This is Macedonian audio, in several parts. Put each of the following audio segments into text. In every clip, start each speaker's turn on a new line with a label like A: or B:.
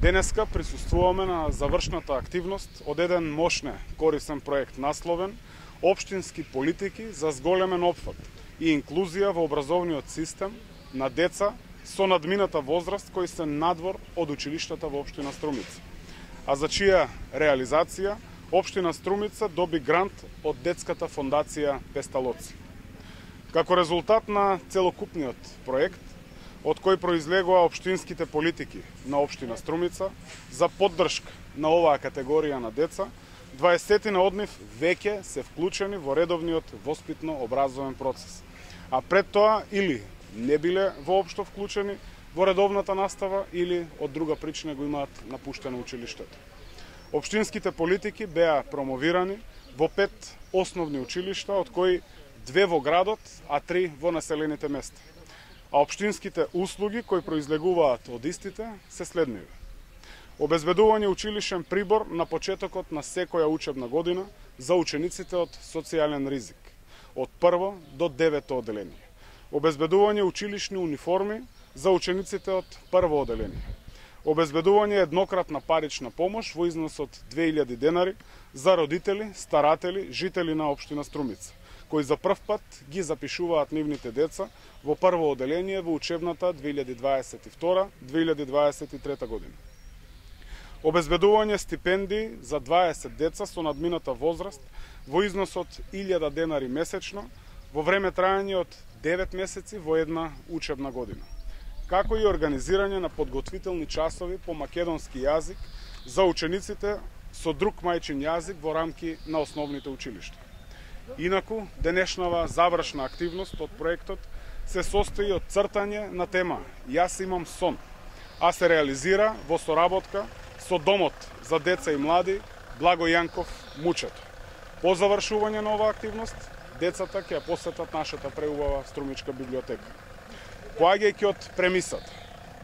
A: Денеска присуствуваме на завршната активност од еден мощне корисен проект насловен Општински политики за зголемен опфат и инклузија во образовниот систем на деца со надмината возраст кои се надвор од училиштата во општина Струмица, а за чија реализација општина Струмица доби грант од детската фондација Песталоци. Како резултат на целокупниот проект, од кој произлегува општинските политики на општина Струмица за поддршка на оваа категорија на деца, 20 од нив веќе се вклучени во редовниот воспитно-образовен процес, а пред тоа или не биле воопшто вклучени во редовната настава или од друга причина го имаат напуштено училиштето. Општинските политики беа промовирани во 5 основни училишта, од кои 2 во градот, а 3 во населените места. А општинските услуги кои произлегуваат од истите се следниви: обезбедување училишен прибор на почетокот на секоја учебна година за учениците од социјален ризик, од 1 до 9 одделение; обезбедување училишни униформи за учениците од 1 одделение; обезбедување еднократна парична помош во износ од 2000 денари за родители, старатели, жители на општина Струмица, кои за прв пат ги запишуваат нивните деца во 1 одделение во учебната 2022-2023 година. Обезбедување стипендии за 20 деца со надмината возраст во износ од 1000 денари месечно во време трајање од 9 месеци во една учебна година, како и организирање на подготвителни часови по македонски јазик за учениците со друг мајчин јазик во рамки на основните училишта. Инаку, денешнава завршна активност од проектот се состои од цртање на тема "Јас имам сон", а се реализира во соработка со Домот за деца и млади Благо Јанков Мучето. По завршување на оваа активност, децата ќе ја посетат нашата преубава Струмичка библиотека. Поаѓајќи од премисата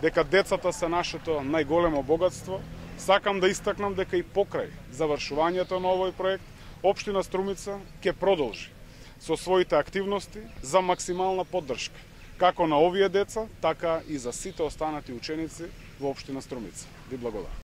A: дека децата се нашето најголемо богатство, сакам да истакнам дека и покрај завршувањето на овој проект, општина Струмица ќе продолжи со своите активности за максимална поддршка како на овие деца, така и за сите останати ученици во општина Струмица. Ви благодарам.